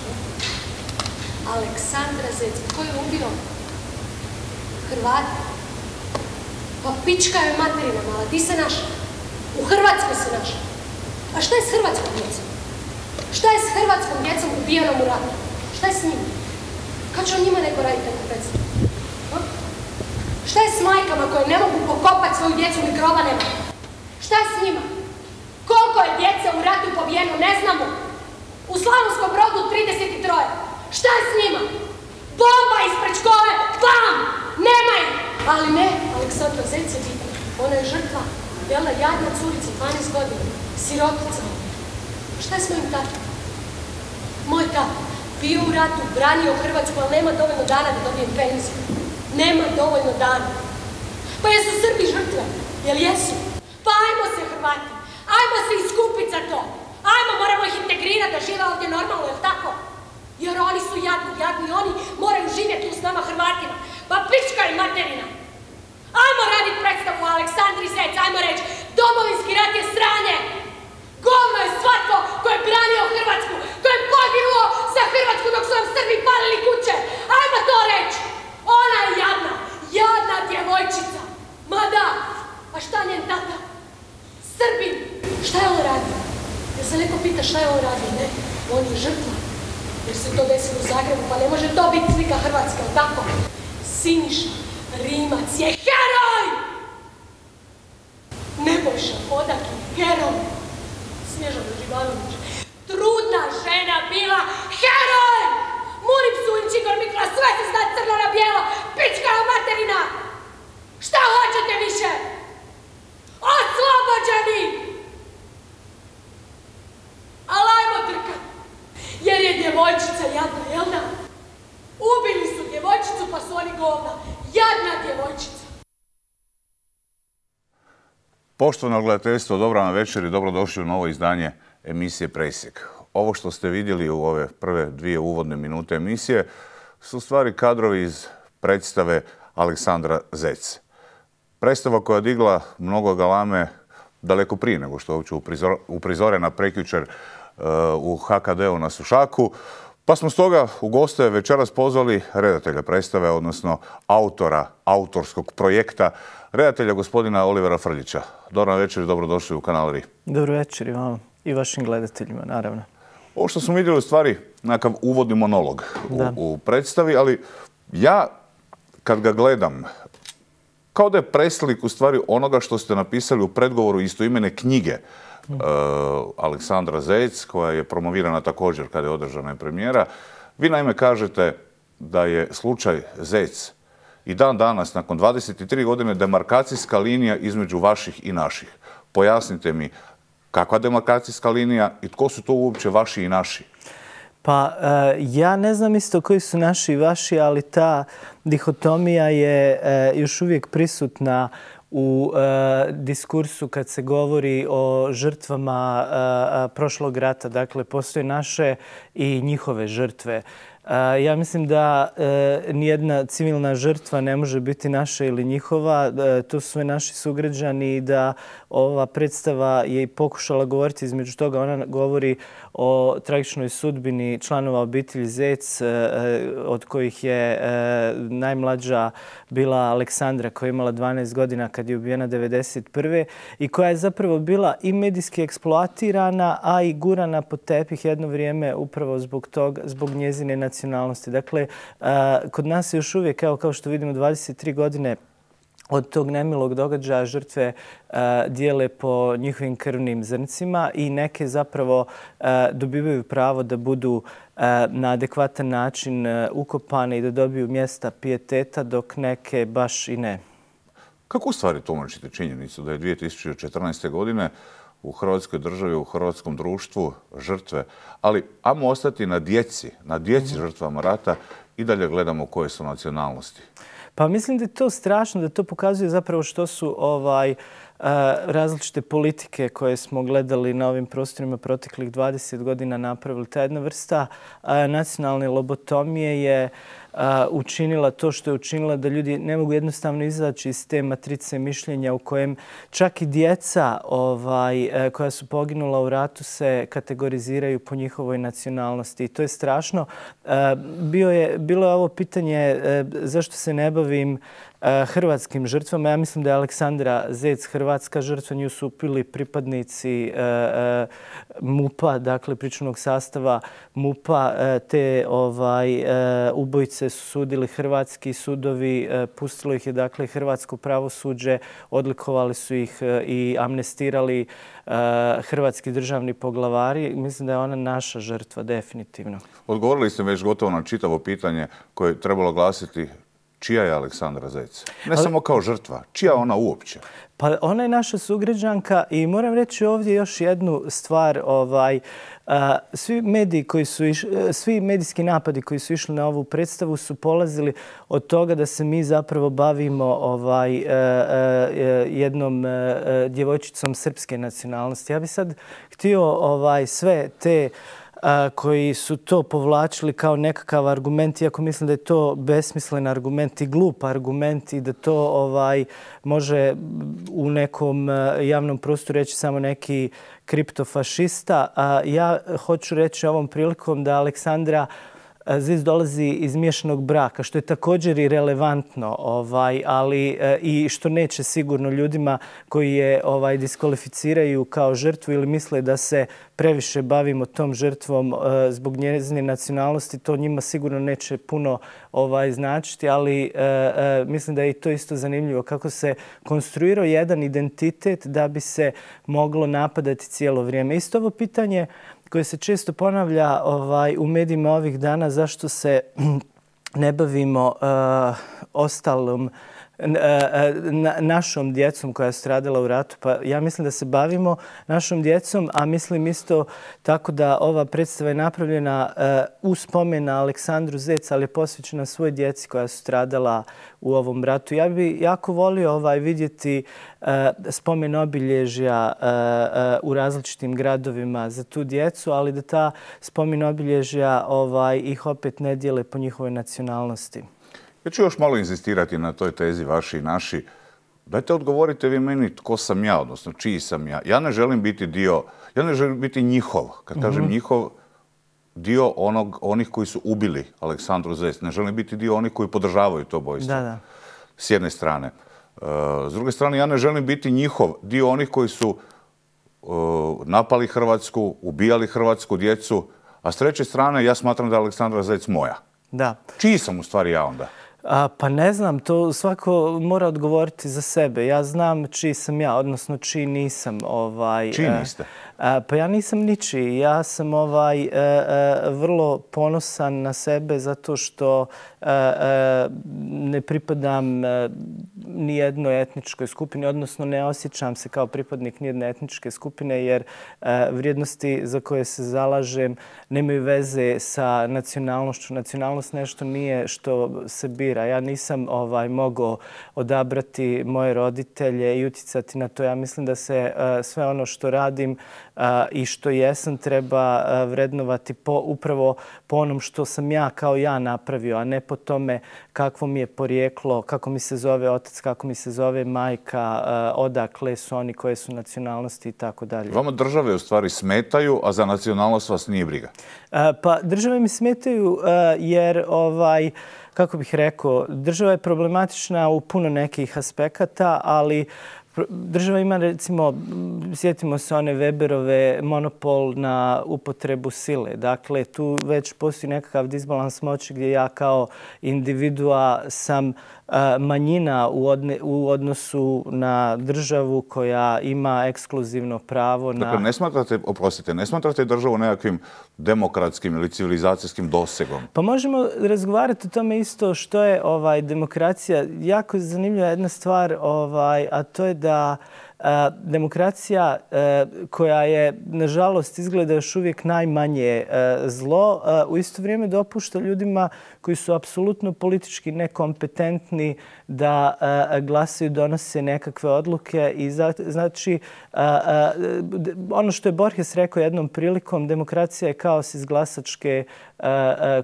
piše? Aleksandra Zec. Ko je ubio? Hrvati. Pa pička je materina mala. Ti se našla. U Hrvatskoj se našla. A šta je s hrvatskom djecom? Šta je s hrvatskom djecom ubijenom u ratu? Šta je s njima? Kad će o njima neko raditi tako predstavu? Šta je s majkama koje ne mogu pokopati svoju djecu ni groba nema? Šta je s njima? Koliko je djece u ratu pobijeno? Ne znamo. U Slavonskom Brodu 33. Šta je s njima? Bomba ispred škole! Bam! Nema ih! Ali ne, Aleksandra Zec je bitna. Ona je žrtva. Jel' jadna curica, 12 godina. Sirotica. Šta je s mojim tatom? Moj tata bio u ratu, branio Hrvatsku, ali nema dovoljno dana da dobijem penziju. Nema dovoljno dana. Pa jesu Srbi žrtve? Jel' jesu? Pa ajmo se Hrvati. Ajmo se iskupiti za to. Ajmo, moramo ih integrirati da žive ovdje normalno, jel' tako? Jer oni su jadni, oni moraju živjeti tu s nama Hrvatima. Pa pička i materina. Ajmo raditi predstavu o Aleksandri Zec, ajmo reći, Domovinski rat je sranje. Govno je svatko ko je branio Hrvatsku, ko je poginuo za Hrvatsku dok su nam Srbi palili kuće. Ajmo to reći. Ona je jadna djevojčica. Ma da, a šta njen tata? Srbin. Šta je on radio? Jer se neko pita šta je on radio? Ne, on je žrtva. Jer se to desilo u Zagrebu, pa ne može to biti slika Hrvatske, ali tako? Siniša Rimac je heroj! Nebojša Hodak je heroj! Snježana Živanović, trudna žena bila heroj! Murim Sujić, Igor Mikola, sve se zna crno na bijelo, pička materina! Šta hoćete više? Oslobođeni! Ali ajmo trkat, jer je djevojčica jadna, jel da? Ubili su djevojčicu pa su oni govna. Jadna djevojčica. Poštovano gledateljstvo, dobra vam večer i dobrodošli u novo izdanje emisije Presjek. Ovo što ste vidjeli u ove prve 2 uvodne minute emisije su stvari kadrovi iz predstave Aleksandra Zec. Predstava koja je digla mnogo galame daleko prije nego što je uopće uprizorena prekjučer u HKD-u na Sušaku. Pa smo stoga u goste večeras pozvali redatelja predstave, odnosno autorskog projekta, redatelja gospodina Olivera Frljića. Dobar večer i dobrodošli u Kanal RI. Dobro večer i vama i vašim gledateljima, naravno. Ovo što smo vidjeli u stvari nekakav uvodni monolog u predstavi, ali ja kad ga gledam, kao da je preslik u stvari onoga što ste napisali u predgovoru istoimene knjige Aleksandra Zec, koja je promovirana također kada je održana premijera. Vi naime kažete da je slučaj Zec i dan danas, nakon 23 godine, demarkacijska linija između vaših i naših. Pojasnite mi kakva demarkacijska linija i tko su to uopće vaši i naši? Pa ja ne znam isto koji su naši i vaši, ali ta dihotomija je još uvijek prisutna u diskursu kad se govori o žrtvama prošlog rata. Dakle, postoje naše i njihove žrtve. Ja mislim da nijedna civilna žrtva ne može biti naša ili njihova. To su sve naši sugrađani i da ova predstava je i pokušala govoriti između toga. Ona govori o tragičnoj sudbini članova obitelji Zec, od kojih je najmlađa bila Aleksandra, koja je imala 12 godina kad je ubijena 1991. i koja je zapravo bila i medijski eksploatirana, a i gurana pod tepih jedno vrijeme upravo zbog njezine nacionalnosti. Dakle, kod nas je još uvijek, kao što vidimo, 23 godine od tog nemilog događaja žrtve dijele po njihovim krvnim zrncima i neke zapravo dobivaju pravo da budu na adekvatan način ukopane i da dobiju mjesta pijeteta, dok neke baš i ne. Kako u stvari tumačite činjenicu da je 2014. godine u Hrvatskoj državi, u hrvatskom društvu žrtve, ali ajmo ostati na djeci žrtvama rata i dalje gledamo koje su nacionalnosti? Pa mislim da je to strašno, da to pokazuje zapravo što su različite politike koje smo gledali na ovim prostorima proteklih 20 godina napravili. Ta jedna vrsta nacionalne lobotomije je učinila to što je učinila, da ljudi ne mogu jednostavno izaći iz te matrice mišljenja u kojem čak i djeca koja su poginula u ratu se kategoriziraju po njihovoj nacionalnosti. I to je strašno. Bilo je ovo pitanje zašto se ne bavim hrvatskim žrtvama. Ja mislim da je Aleksandra Zec hrvatska žrtva. Nju su upili pripadnici MUP-a, dakle pričuvnog sastava MUP-a. Te ubojice su sudili hrvatski sudovi, pustilo ih je dakle hrvatsko pravosuđe, odlikovali su ih i amnestirali hrvatski državni poglavari. Mislim da je ona naša žrtva, definitivno. Odgovorili ste već gotovo na čitavo pitanje koje je trebalo glasiti čija je Aleksandra Zec? Ne samo kao žrtva, čija ona uopće? Pa ona je naša sugrađanka i moram reći ovdje još jednu stvar. Svi medijski napadi koji su išli na ovu predstavu su polazili od toga da se mi zapravo bavimo jednom djevojčicom srpske nacionalnosti. Ja bih sad htio sve te koji su to povlačili kao nekakav argument, iako mislim da je to besmislen argument i glup argument i da to može u nekom javnom prostoru reći samo neki kriptofašista. Ja hoću reći ovom prilikom da Aleksandra Zec dolazi iz miješanog braka, što je također i relevantno, ali i što neće sigurno ljudima koji je diskvalificiraju kao žrtvu ili misle da se previše bavimo tom žrtvom zbog njezine nacionalnosti, to njima sigurno neće puno značiti, ali mislim da je i to isto zanimljivo kako se konstruirao jedan identitet da bi se moglo napadati cijelo vrijeme. Isto ovo pitanje koje se često ponavlja u medijima ovih dana, zašto se ne bavimo ostalom našom djecom koja je stradala u ratu. Pa ja mislim da se bavimo našom djecom, a mislim isto tako da ova predstava je napravljena u spomen na Aleksandru Zec, ali je posvećena svoj djeci koja su stradala u ovom ratu. Ja bih jako volio vidjeti spomen obilježja u različitim gradovima za tu djecu, ali da ta spomen obilježja ih opet ne dijele po njihovoj nacionalnosti. Ja ću još malo inzistirati na toj tezi vaši i naši. Dajte odgovorite vi meni tko sam ja, odnosno čiji sam ja. Ja ne želim biti ja ne želim biti njihov. Kad kažem njihov, dio onih koji su ubili Aleksandru Zec. Ne želim biti dio onih koji podržavaju to ubojstvo. Da. S jedne strane. S druge strane, ja ne želim biti njihov, dio onih koji su napali Hrvatsku, ubijali hrvatsku djecu, a s treće strane ja smatram da je Aleksandra Zec moja. Da. Čiji sam u stvari ja onda? Pa ne znam, to svako mora odgovoriti za sebe. Ja znam čiji sam ja, odnosno čiji nisam. Čiji niste? Pa ja nisam ničiji. Ja sam vrlo ponosan na sebe zato što ne pripadam ni jednoj etničkoj skupini, odnosno ne osjećam se kao pripadnik nijedne etničke skupine, jer vrijednosti za koje se zalažem nemaju veze sa nacionalnošću. Nacionalnost nešto nije što se bira. Ja nisam mogao odabrati moje roditelje i utjecati na to. Ja mislim da se sve ono što radim i što jesam treba vrednovati upravo po onom što sam ja kao ja napravio, a ne po tome kakvo mi je porijeklo, kako mi se zove otac, kako mi se zove majka, odakle su oni, koje su nacionalnosti i tako dalje. Vama države u stvari smetaju, a za nacionalnost vas nije briga? Pa države mi smetaju jer kako bih rekao, država je problematična u puno nekih aspekata, ali država ima, recimo, sjetimo se one Weberove, monopol na upotrebu sile. Dakle, tu već postoji nekakav disbalans moći gdje ja kao individua sam manjina u odnosu na državu koja ima ekskluzivno pravo na... Dakle, ne smatrate državu nekakvim demokratskim ili civilizacijskim dosegom? Pa možemo razgovarati o tome isto što je demokracija. Jako zanimljiva jedna stvar, a to je da demokracija koja je, nažalost, izgleda još uvijek najmanje zlo, u isto vrijeme dopušta ljudima koji su apsolutno politički nekompetentni da glasaju, donose nekakve odluke i znači ono što je Borges rekao jednom prilikom, demokracija je kaos iz glasačke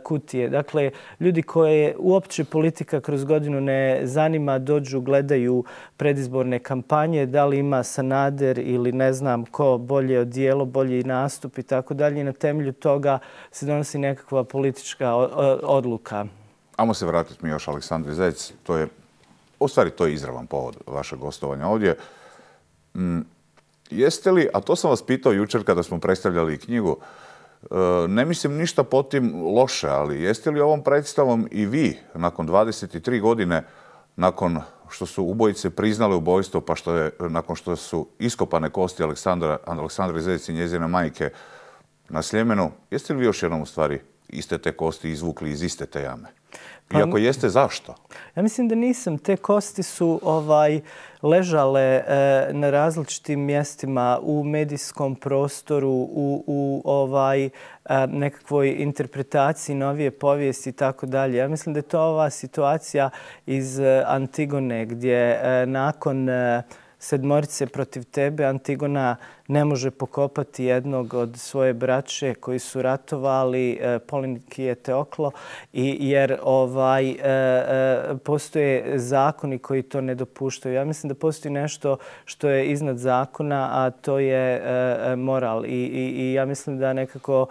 kutije. Dakle, ljudi koje uopće politika kroz godinu ne zanima, dođu, gledaju predizborne kampanje, da li ima Sanader ili ne znam ko bolje odijelo, bolji nastup i tako dalje. I na temelju toga se donosi nekakva politička odluka. Ajmo se vratiti mi još Aleksandri Zec. U stvari to je izravan povod vašeg gostovanja ovdje. Jeste li, a to sam vas pitao jučer kada smo predstavljali knjigu, ne mislim ništa po tim loše, ali jeste li ovom predstavom i vi nakon 23 godine, nakon što su ubojice priznale ubojstvo, pa nakon što su iskopane kosti Aleksandre Zec i njezine majke na Sljemenu, jeste li vi još jednom u stvari iste te kosti izvukli iz iste te jame? I ako jeste, zašto? Ja mislim da nisam. Te kosti su ležale na različitim mjestima u medijskom prostoru, u nekakvoj interpretaciji novije povijesti i tako dalje. Ja mislim da je to ova situacija iz Antigone gdje nakon sedmorice protiv tebe Antigona ne može pokopati jednog od svoje braće koji su ratovali, Polinikije Teoklo, jer postoje zakoni koji to ne dopuštaju. Ja mislim da postoji nešto što je iznad zakona, a to je moral. I ja mislim da nekako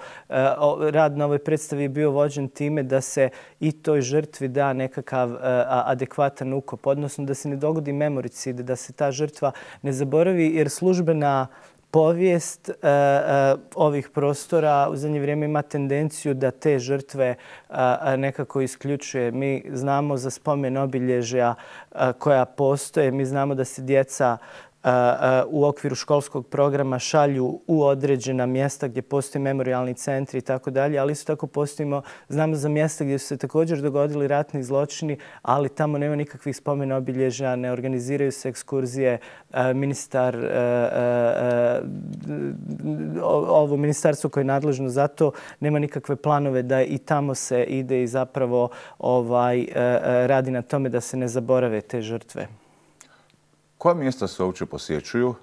rad na ovoj predstavi je bio vođen time da se i toj žrtvi da nekakav adekvatan ukop, odnosno da se ne dogodi memoricid, da se ta žrtva ne zaboravi, jer službena povijest ovih prostora u zadnje vrijeme ima tendenciju da te žrtve nekako isključuje. Mi znamo za spomen obilježja koja postoje, mi znamo da se djeca u okviru školskog programa šalju u određena mjesta gdje postoje memorijalni centri i tako dalje, ali isto tako znamo za mjesta gdje su se također dogodili ratni zločini, ali tamo nema nikakvih spomena obilježja, ne organiziraju se ekskurzije. Ministar, ovo ministarstvo koje je nadležno za to, nema nikakve planove da i tamo se ide i zapravo radi na tome da se ne zaborave te žrtve. Koja mjesta se uopće posjećuju,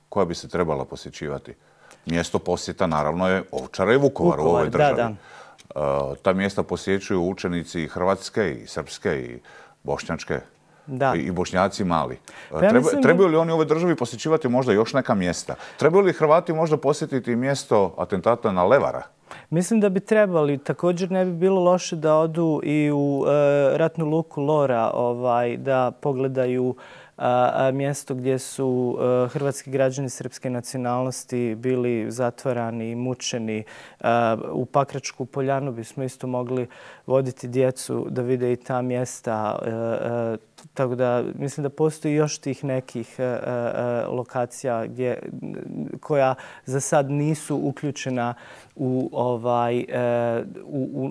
koja bi se trebala posjećivati? Mjesto posjeta naravno je Ovčara i Vukovar u ovoj državi. Da. Ta mjesta posjećuju učenici i hrvatske i srpske i bošnjačke i Bošnjaci mali. Trebaju li oni u ovoj državi posjećivati možda još neka mjesta? Trebaju li Hrvati možda posjetiti mjesto atentata na Levara? Mislim da bi trebali. Također ne bi bilo loše da odu i u ratnu luku Lora, da pogledaju mjesto gdje su hrvatski građani srpske nacionalnosti bili zatvarani i mučeni. U Pakračku poljanu bismo isto mogli voditi djecu da vide i ta mjesta. Tako da mislim da postoji još tih nekih lokacija koja za sad nisu uključena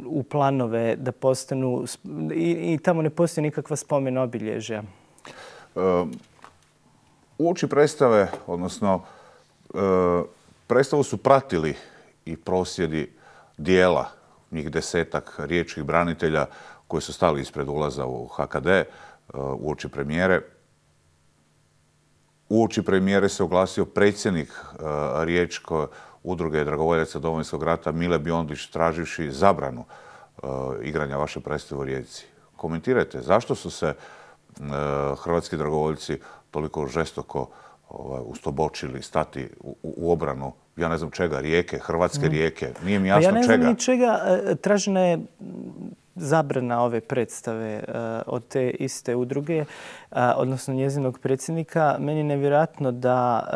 u planove da postanu i tamo ne postoji nikakva spomen obilježja. Uoči predstave, odnosno predstavu su pratili i prosvjedi dijela, njih 10-ak riječkih branitelja koji su stali ispred ulaza u HKD uoči premijere. Uoči premijere se oglasio predsjednik Riječke udruge dragovoljaca Domovinskog rata Mile Biondić traživši zabranu igranja vaše predstave u Rijeci. Komentirajte, zašto su se hrvatski dragovoljci toliko žestoko ustobočili stati u obranu, ja ne znam čega, Rijeke, hrvatske Rijeke, nije mi jasno čega. Ja ne znam ni čega. Tražena je zabrana ove predstave od te iste udruge, odnosno njezinog predsjednika. Meni je nevjerojatno da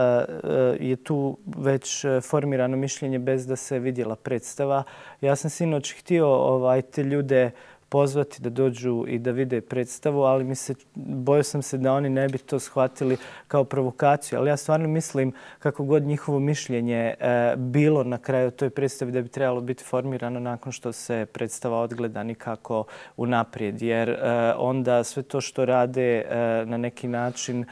je tu već formirano mišljenje bez da se vidjela predstava. Ja sam sinoć htio te ljude pozvati da dođu i da vide predstavu, ali bojao sam se da oni ne bi to shvatili kao provokaciju. Ali ja stvarno mislim kako god njihovo mišljenje bilo na kraju toj predstavi da bi trebalo biti formirano nakon što se predstava odgleda nikako unaprijed. Jer onda sve to što rade na neki način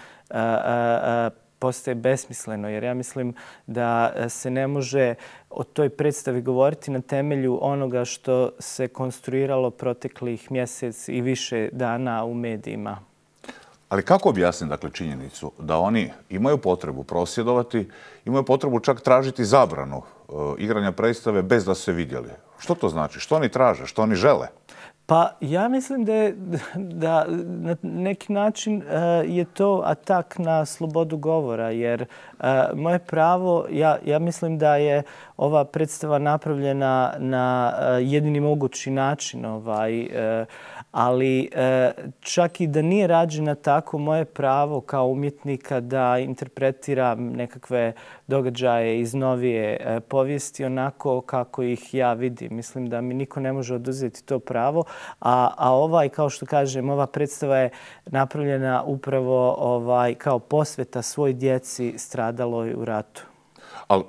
postaje besmisleno, jer ja mislim da se ne može o toj predstavi govoriti na temelju onoga što se konstruiralo proteklih mjesec i više dana u medijima. Ali kako objasniti dakle činjenicu da oni imaju potrebu prosvjedovati, imaju potrebu čak tražiti zabranu igranja predstave bez da su se vidjeli? Što to znači? Što oni traže? Što oni žele? Pa ja mislim da na neki način je to atak na slobodu govora, jer moje pravo, ja mislim da je ova predstava napravljena na jedini mogući način, ali čak i da nije rađena tako, moje pravo kao umjetnika da interpretiram nekakve događaje iz novije povijesti onako kako ih ja vidim. Mislim da mi niko ne može oduzeti to pravo, a kao što kažem, ova predstava je napravljena upravo kao posveta svoj djeci stradaloj u ratu. Ali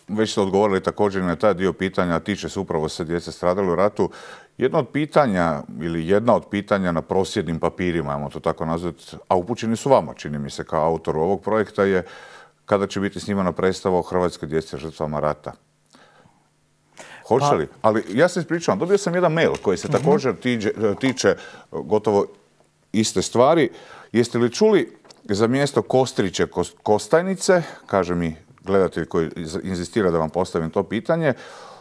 već ste odgovorili također na taj dio pitanja, a tiče se upravo se djece stradali u ratu. Jedna od pitanja na prosvjednim papirima, ajmo to tako nazvati, a upućeni su vama, čini mi se, kao autoru ovog projekta, je kada će biti snimana predstava o hrvatskoj djeci žrtvama rata. Hoće li? Ali ja se ispričavam, dobio sam jedan mail koji se također tiče gotovo iste stvari. Jeste li čuli za mjesto Kostriće Kostajnice, kaže mi gledatelj koji inzistira da vam postavim to pitanje,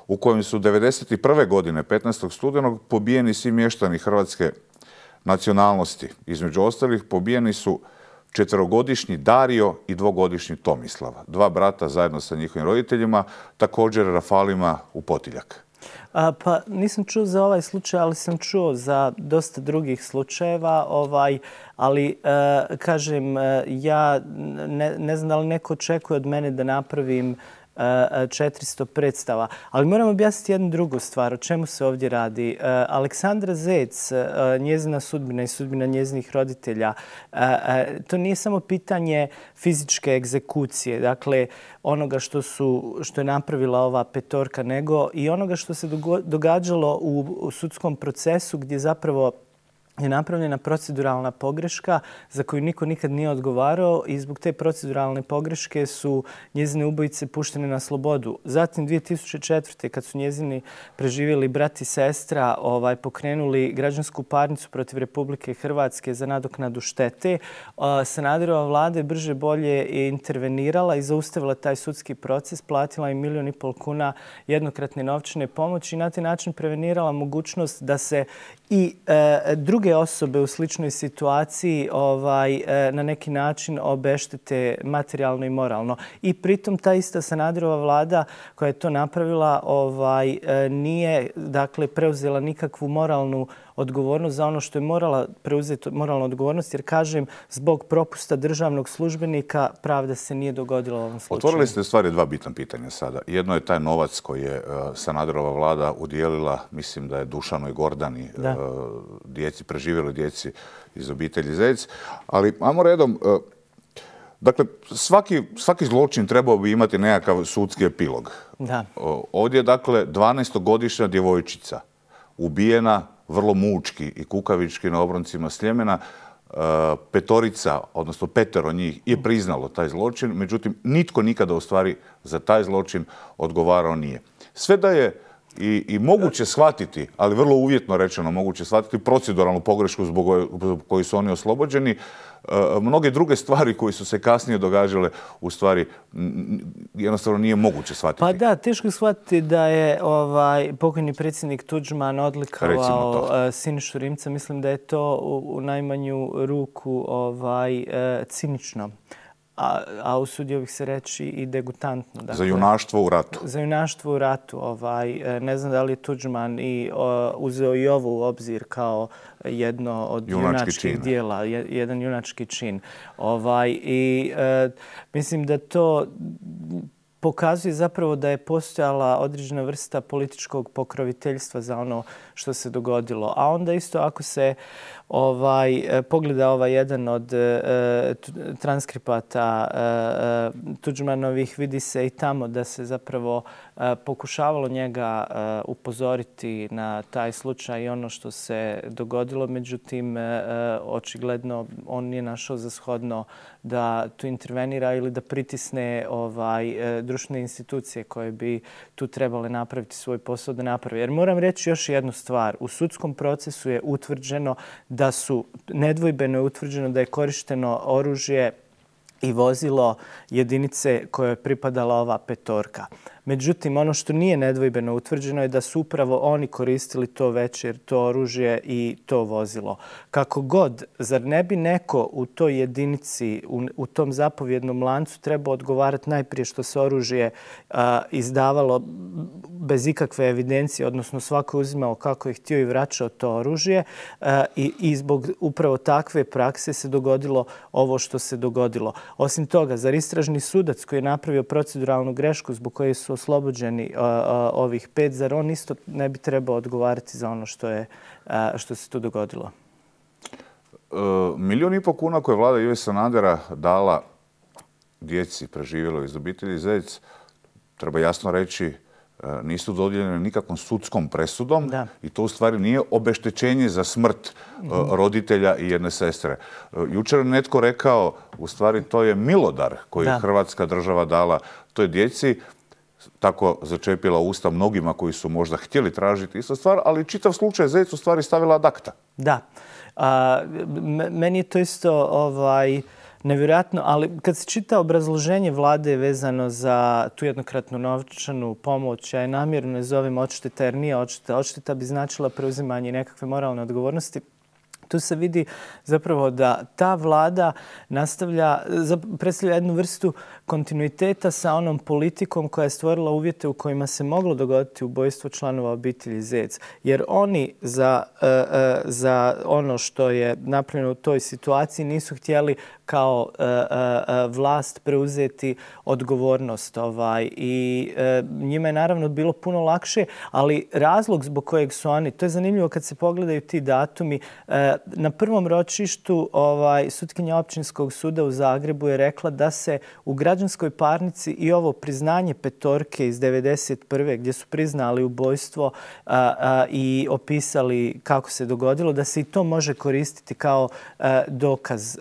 u kojem su 1991. godine, 15. studenog, pobijeni svi mještani hrvatske nacionalnosti. Između ostalih pobijeni su 4-godišnji Dario i 2-godišnji Tomislav. 2 brata zajedno sa njihovim roditeljima, također rafalima u Potiljak. Pa nisam čuo za ovaj slučaj, ali sam čuo za dosta drugih slučajeva. Ali, kažem, ja ne znam da li neko očekuje od mene da napravim 400 predstava. Ali moram objasniti jednu drugu stvar. O čemu se ovdje radi? Aleksandra Zec, njezina sudbina i sudbina njezinih roditelja, to nije samo pitanje fizičke egzekucije, dakle onoga što je napravila ova petorka, nego i onoga što se događalo u sudskom procesu gdje zapravo je napravljena proceduralna pogreška za koju niko nikad nije odgovarao i zbog te proceduralne pogreške su njezine ubojice puštene na slobodu. Zatim 2004. kad su njezini preživjeli brat i sestra pokrenuli građansku parnicu protiv Republike Hrvatske za nadoknadu štete, Sanaderova vlada je brže bolje intervenirala i zaustavila taj sudski proces, platila im 1,5 milijuna kuna jednokratne novčane pomoći i na taj način prevenirala mogućnost da se i druge osobe u sličnoj situaciji na neki način obeštete materijalno i moralno. I pritom ta ista Sanaderova vlada koja je to napravila nije preuzela nikakvu moralnu odgovornost za ono što je morala preuzeti moralnu odgovornost, jer kažem, zbog propusta državnog službenika pravda se nije dogodila u ovom slučaju. Otvorili ste stvari 2 bitna pitanja sada. Jedno je taj novac koji je Sanaderova vlada udijelila, mislim da je Dušanu i Gordani, preživjeli djeci iz obitelji Zec. Ali, ajmo redom, dakle, svaki zločin trebao bi imati nekakav sudski epilog. Da. Ovdje je, dakle, 12-godišnja djevojčica ubijena vrlo mučki i kukavički na obroncima Sljemena. Petorica, odnosno 5 njih je priznalo taj zločin, međutim, nitko nikada u stvari za taj zločin odgovarao nije. Sve da je i moguće shvatiti, ali vrlo uvjetno rečeno moguće shvatiti proceduralnu pogrešku zbog koju su oni oslobođeni, mnoge druge stvari koje su se kasnije događale u stvari jednostavno nije moguće shvatiti. Pa da, teško shvatiti da je pokojni predsjednik Tuđman odlikovao Sinišu Rimca. Mislim da je to u najmanju ruku cinično. A usudio bih se reći i degutantno. Za junaštvo u ratu. Za junaštvo u ratu. Ne znam da li je Tuđman uzeo i ovo u obzir kao jedno od junačkih dijela, jedan junački čin. I mislim da to pokazuje zapravo da je postojala određena vrsta političkog pokroviteljstva za ono što se dogodilo. A onda isto ako se pogleda jedan od transkripata Tuđmanovih, vidi se i tamo da se zapravo pokušavalo njega upozoriti na taj slučaj i ono što se dogodilo. Međutim, očigledno on nije našao za shodno da tu intervenira ili da pritisne društvene institucije koje bi tu trebale napraviti svoj posao da napravi. Jer moram reći još jednu stvar. U sudskom procesu je utvrđeno nedvojbeno je utvrđeno da je korišteno oružje i vozilo jedinice koje je pripadala ova petorka. Međutim, ono što nije nedvojbeno utvrđeno je da su upravo oni koristili to večer, to oružje i to vozilo. Kako god, zar ne bi neko u toj jedinici, u tom zapovjednom lancu trebao odgovarati najprije što se oružje izdavalo bez ikakve evidencije, odnosno svako je uzimao kako je htio i vraćao to oružje i zbog upravo takve prakse se dogodilo ovo što se dogodilo. Osim toga, zar istražni sudac koji je napravio proceduralnu grešku zbog koje su oslobođeni ovih 5, zar on isto ne bi trebao odgovarati za ono što se tu dogodilo? 1,5 milijun kuna koje je vlada Ive Sanadera dala djeci preživjeloj iz obitelji Zec, treba jasno reći, nisu dodijeljene nikakvom sudskom presudom i to u stvari nije obeštećenje za smrt roditelja i jedne sestre. Jučer je netko rekao, u stvari to je milodar koji je Hrvatska država dala toj djeci, tako začepila usta mnogima koji su možda htjeli tražiti isto stvar, ali čitav slučaj Zec u stvari stavila ad acta. Da. Meni je to isto nevjerojatno, ali kad se čita obrazloženje vlade vezano za tu jednokratnu novčanu pomoć, ja je namjerno ne zovem odšteta jer nije odšteta. Odšteta bi značila preuzimanje nekakve moralne odgovornosti. Tu se vidi zapravo da ta vlada predstavlja jednu vrstu kontinuiteta sa onom politikom koja je stvorila uvjete u kojima se moglo dogoditi ubojstvo članova obitelji Zec. Jer oni za ono što je napravljeno u toj situaciji nisu htjeli kao vlast preuzeti odgovornost. I njima je naravno bilo puno lakše, ali razlog zbog kojeg su oni, to je zanimljivo kad se pogledaju ti datumi, na prvom ročištu sutkinja Općinskog suda u Zagrebu je rekla da se u građanskoj parnici i ovo priznanje petorke iz 1991. gdje su priznali ubojstvo i opisali kako se dogodilo, da se i to može koristiti kao dokaz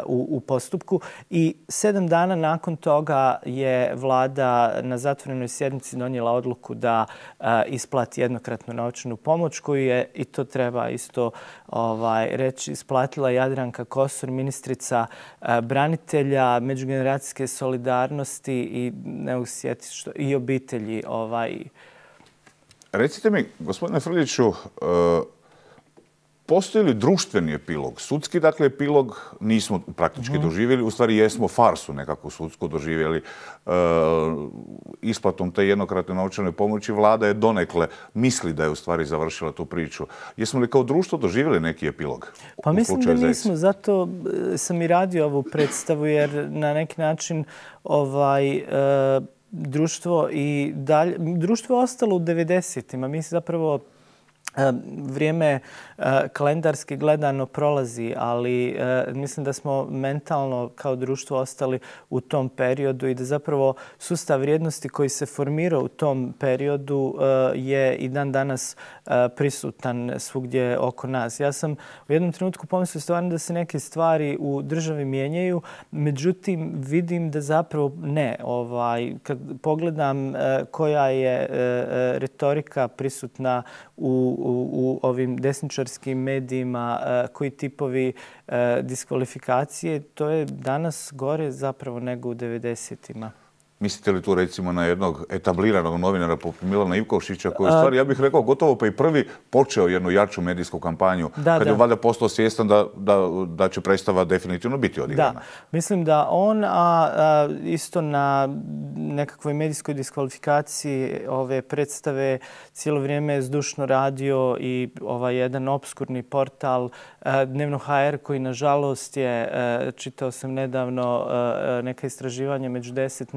u postupku. I 7 dana nakon toga je vlada na zatvorenoj sjednici donijela odluku da isplati jednokratnu novčanu pomoć koju je, i to treba isto reći, isplatila Jadranka Kosor, ministrica branitelja, međugeneracijske solidarnosti i ne mogu se sjetiti i obitelji. Recite mi, gospodine Frljiću, postoji li društveni epilog? Sudski, dakle, epilog nismo praktički doživjeli. U stvari jesmo farsu nekako sudsku doživjeli. Isplatom te jednokratne novčane pomoći vlada je donekle misli da je u stvari završila tu priču. Jesmo li kao društvo doživjeli neki epilog? Pa mislim da nismo. Zato sam i radio ovu predstavu jer na neki način društvo je ostalo u 90-ima. Mi zapravo vrijeme kalendarski gledano prolazi, ali mislim da smo mentalno kao društvo ostali u tom periodu i da zapravo sustav vrijednosti koji se formirao u tom periodu je i dan danas prisutan svugdje oko nas. Ja sam u jednom trenutku pomislio stvarno da se neke stvari u državi mijenjaju, međutim vidim da zapravo ne. Kad pogledam koja je retorika prisutna u ovim desničarskim medijima, koji tipovi diskvalifikacije, to je danas gore zapravo nego u 90-ima. Mislite li tu recimo na jednog etabliranog novinara poput Milana Ivkošića koji u stvari, ja bih rekao, gotovo pa i prvi počeo jednu jaču medijsku kampanju kad je valjda postao svjestan da će predstava definitivno biti odigrana? Da, mislim da on, a isto na nekakvoj medijskoj diskvalifikaciji ove predstave cijelo vrijeme je zdušno radio i jedan obskurni portal Dnevno HR koji nažalost je, čitao sam nedavno neka istraživanja među 10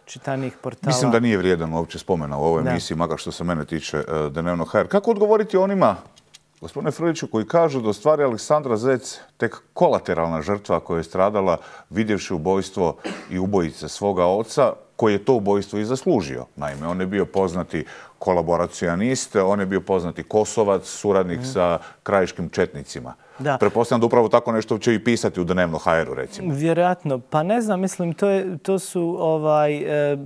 najčitanijih portala. Mislim da nije vrijedan uopće spomena u ovoj emisiji, makar što se mene tiče Dnevno.hr. Kako odgovoriti onima, gospodine Frljiću, koji kažu da u stvari Aleksandra Zec tek kolateralna žrtva koja je stradala vidjevši ubojstvo i ubojice svoga oca, koji je to ubojstvo i zaslužio. Naime, on je bio poznati kolaboracionist, on je bio poznati Kosovac, suradnik sa krajiškim četnicima. Pretpostavljam da upravo tako nešto će i pisati u Dnevno.hr-u, recimo. Vjerojatno. Pa ne znam, mislim, to su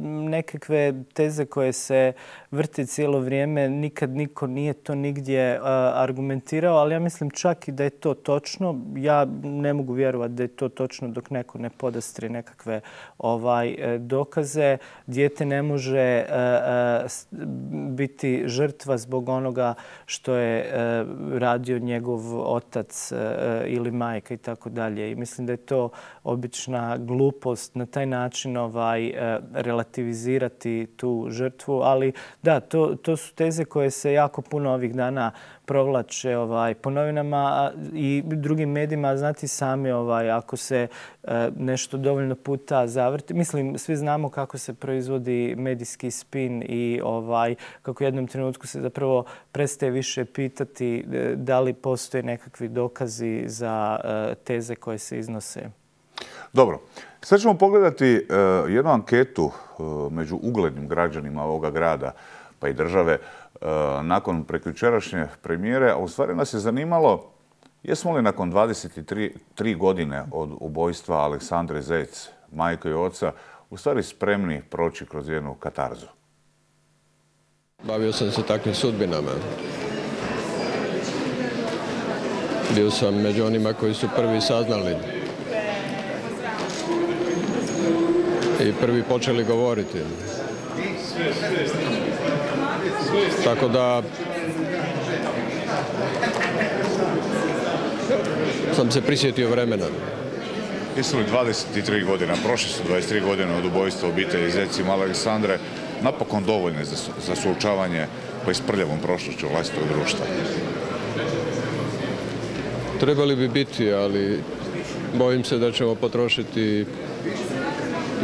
nekakve teze koje se vrti cijelo vrijeme. Nikad niko nije to nigdje argumentirao, ali ja mislim čak i da je to točno. Ja ne mogu vjerovati da je to točno dok neko ne podastri nekakve dokaze. Dijete ne može biti žrtva zbog onoga što je radio njegov otac ili majka i tako dalje. I mislim da je to obična glupost na taj način relativizirati tu žrtvu. Ali da, to su teze koje se jako puno ovih dana provlače po novinama i drugim medijima. Znate sami, ako se nešto dovoljno puta zavrti. Mislim, svi znamo kako se proizvodi medijski spin i kako u jednom trenutku se zapravo prestaje više pitati da li postoje nekakvi dokazi za teze koje se iznose. Dobro. Sad ćemo pogledati jednu anketu među uglednim građanima ovoga grada pa i države nakon prekjučerašnje premijere, a u stvari nas je zanimalo jesmo li nakon 23 godine od ubojstva Aleksandre Zec, majke i oca, u stvari spremni proći kroz jednu katarzu. Bavio sam se takvim sudbinama. Bio sam među onima koji su prvi saznali i prvi počeli govoriti. Tako da sam se prisjetio vremena. Jesu li 23 godina, prošle su 23 godine od ubojstva obitelji Zec i male Aleksandre, napokon dovoljne za suočavanje pa i s prljavom prošlošću vlastitog društva? Trebali bi biti, ali bojim se da ćemo potrošiti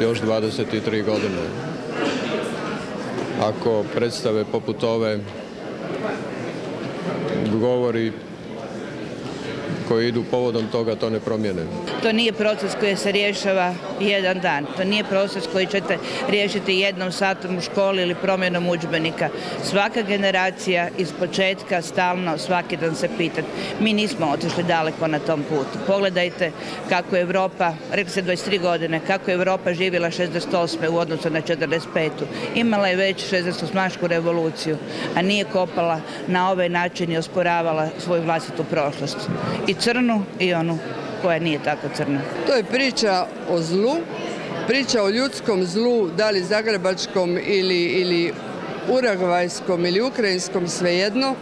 još 23 godine. Ako predstave poput ove govori koji idu povodom toga to ne promijene. To nije proces koji se rješava jedan dan. To nije proces koji ćete riješiti jednom satom u školi ili promjenom udžbenika. Svaka generacija iz početka stalno svaki dan se pita. Mi nismo otišli daleko na tom putu. Pogledajte kako je Europa, rekli se 23 godine, kako je Europa živjela 68. u odnosu na 45. Imala je već 68. revoluciju, a nije kopala na ovaj način i osporavala svoju vlastitu prošlost. I crnu i onu koja nije tako crna. To je priča o zlu, priča o ljudskom zlu, da li zagrebačkom ili urugvajskom ili ukrajinskom, svejedno.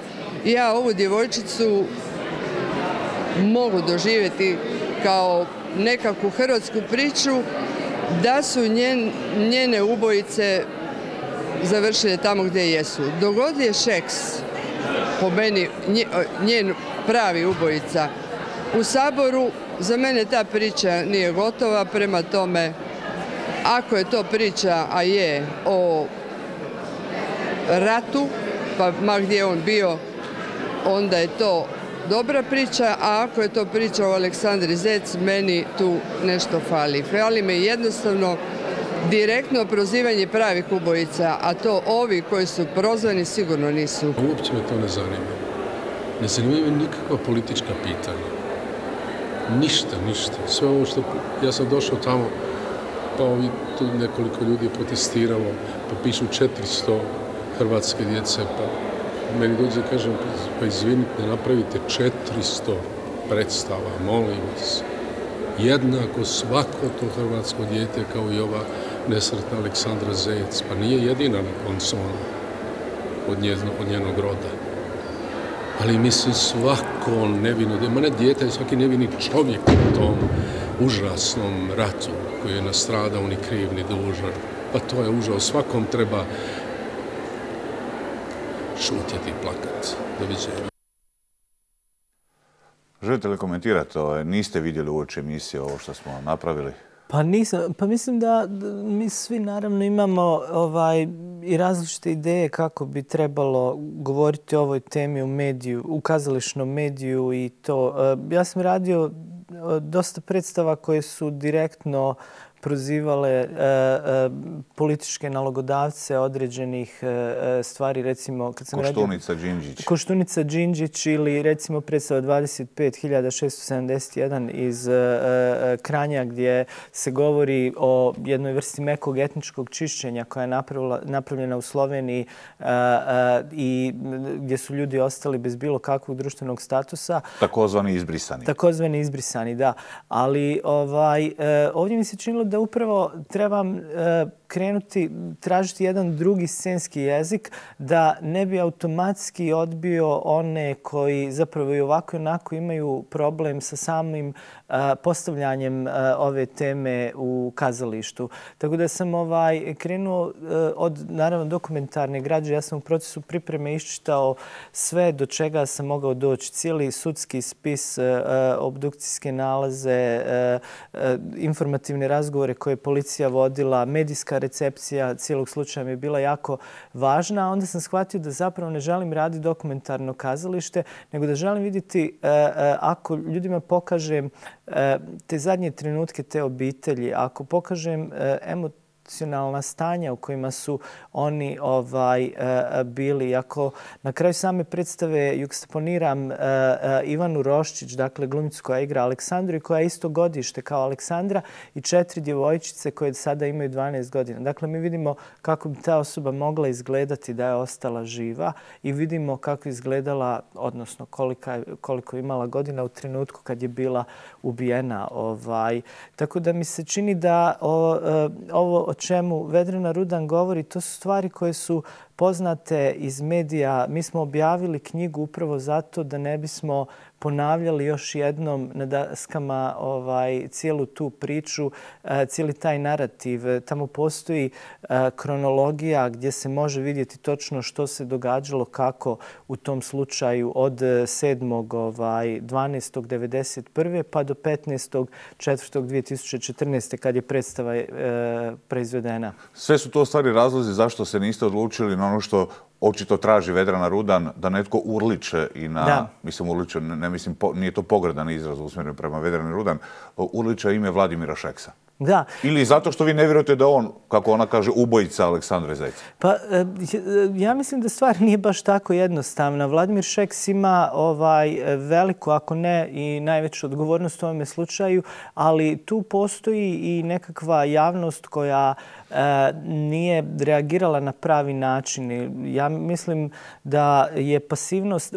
Ja ovu djevojčicu mogu doživjeti kao nekakvu hrvatsku priču da su njene ubojice završile tamo gdje jesu. Dok god je Šeks, po meni, njen pravi ubojica u Saboru, za mene ta priča nije gotova, prema tome, ako je to priča, a je, o ratu, pa ma gdje on bio, onda je to dobra priča, a ako je to priča o Aleksandri Zec, meni tu nešto fali. Fali me jednostavno direktno prozivanje pravih ubojica, a to ovi koji su prozvani sigurno nisu. Uopće me to ne zanima. Ne zanimaju me nikakva politička pitanja. Ništa. Sve ovo što... Ja sam došao tamo, pa tu nekoliko ljudi je protestiralo, pa pišu 400 hrvatske djece, pa meni dođe kažem, pa izvinite, napravite 400 predstava, molim vas. Jednako svako to hrvatsko dijete kao i ova nesretna Aleksandra Zec, pa nije jedina konsona od njenog roda. Ali mislim svako nevino, ma ne dijete, svaki nevini čovjek u tom užasnom ratu koji je nastradao ni kriv ni dužan. Pa to je užas, svakom treba šutjeti i plakati. Doviđenja. Želite li komentirati? Niste vidjeli uoči emisije ovo što smo napravili? Pa mislim da mi svi naravno imamo i različite ideje kako bi trebalo govoriti o ovoj temi u mediju, u kazališnom mediju i to. Ja sam radio dosta predstava koje su direktno prozivale političke nalogodavce određenih stvari, recimo kad sam Koštunica Đinđić. Koštunica Đinđić ili recimo predstava 25.671 iz Kranja gdje se govori o jednoj vrsti mekog etničkog čišćenja koja je napravljena u Sloveniji i gdje su ljudi ostali bez bilo kakvog društvenog statusa. Takozvani izbrisani. Takozvani izbrisani, da. Ali ovdje mi se činilo da upravo trebam krenuti, tražiti jedan drugi scenski jezik da ne bi automatski odbio one koji zapravo i ovako i onako imaju problem sa samim postavljanjem ove teme u kazalištu. Tako da sam krenuo od, naravno, dokumentarne građe. Ja sam u procesu pripreme iščitao sve do čega sam mogao doći. Cijeli sudski spis, obdukcijske nalaze, informativne razgovore koje je policija vodila, medijska recepcija cijelog slučaja mi je bila jako važna. A onda sam shvatio da zapravo ne želim raditi dokumentarno kazalište, nego da želim vidjeti ako ljudima pokažem te zadnje trenutke te obitelji, ako pokažem emocionalna stanja u kojima su oni bili. Ako na kraju same predstave juxtaponiram Ivanu Roščić, dakle glumicu koja igra Aleksandru i koja je isto godište kao Aleksandra i 4 djevojčice koje sada imaju 12 godina. Dakle, mi vidimo kako bi ta osoba mogla izgledati da je ostala živa i vidimo kako je izgledala, odnosno koliko je imala godina u trenutku kad je bila ubijena. Tako da mi se čini da ovo o čemu Vedrana Rudan govori, to su stvari koje su poznate iz medija. Mi smo objavili knjigu upravo zato da ne bismo ponavljali još jednom na daskama cijelu tu priču, cijeli taj narativ. Tamo postoji kronologija gdje se može vidjeti točno što se događalo, kako u tom slučaju od 7.12.1991. pa do 15.4.2014. kad je predstava proizvedena. Sve su to stvari razlozi zašto se niste odlučili na ono što očito traži Vedrana Rudan, da netko urliče i na, mislim urliče, ne mislim, nije to pogredan izraz usmjeren prema Vedrani Rudan, urliče ime Vladimira Šeksa. Da. Ili zato što vi ne vjerujete da on, kako ona kaže, ubojica Aleksandre Zec? Pa ja mislim da stvar nije baš tako jednostavna. Vladimir Šeks ima veliku, ako ne i najveću odgovornost u ovome slučaju, ali tu postoji i nekakva javnost koja nije reagirala na pravi način. Ja mislim da je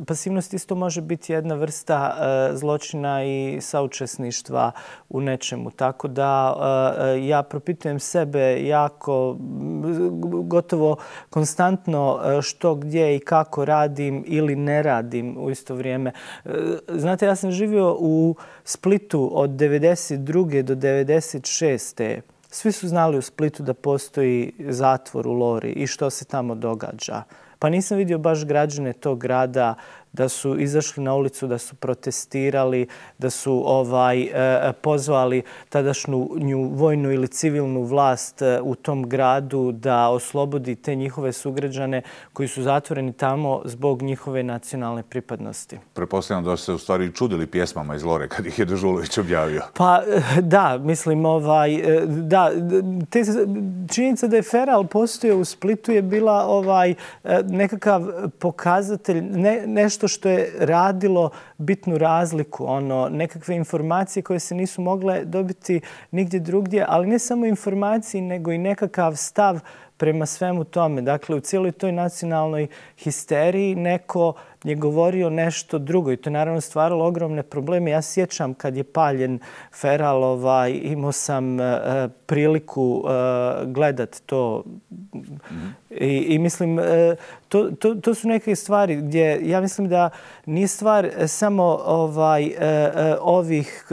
pasivnost isto može biti jedna vrsta zločina i saučesništva u nečemu. Tako da ja propitujem sebe jako, gotovo konstantno što, gdje i kako radim ili ne radim u isto vrijeme. Znate, ja sam živio u Splitu od 1992. do 1996. Svi su znali u Splitu da postoji zatvor u Lori i što se tamo događa. Pa nisam vidio baš građane tog grada da su izašli na ulicu, da su protestirali, da su pozvali tadašnju vojnu ili civilnu vlast u tom gradu da oslobodi te njihove sugrađane koji su zatvoreni tamo zbog njihove nacionalne pripadnosti. Pretpostavljam da ste se u stvari čudili pjesmama iz Lore kad ih je Dežulović objavio. Pa da, mislim, da, činjenica da je feral postojao u Splitu je bila nekakav pokazatelj, nešto što je radilo bitnu razliku, nekakve informacije koje se nisu mogle dobiti nigdje drugdje, ali ne samo informacije, nego i nekakav stav prema svemu tome. Dakle, u cijeloj toj nacionalnoj histeriji neko je govorio nešto drugo i to je naravno stvaralo ogromne probleme. Ja sjećam kad je paljen feral, imao sam priliku gledat to I mislim, to su neke stvari gdje ja mislim da nije stvar samo ovih